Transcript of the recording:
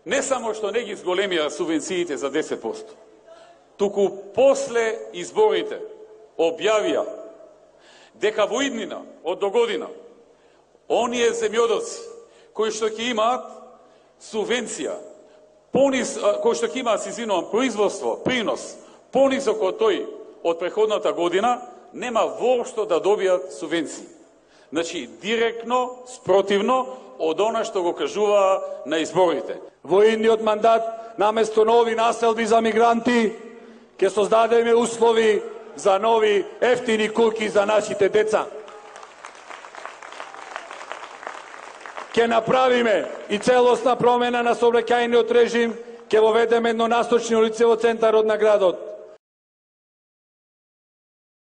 не само што не ги зголемија субвенциите за 10%, туку после изборите објавија дека во иднина од догодина оние земјоделци кои што ќе имаат субвенција, кои што ќе имаат, производство, принос, понизок од тој од преходната година, нема воопшто да добијат субвенции. Значи, директно, спротивно од она што го кажуваа на изборите. Во идниот мандат, наместо нови населби за мигранти, ќе создадеме услови за нови ефтини куќи за нашите деца. Ќе направиме и целосна промена на сообраќајниот режим, ќе воведеме еднонасочни улици во центарот на градот.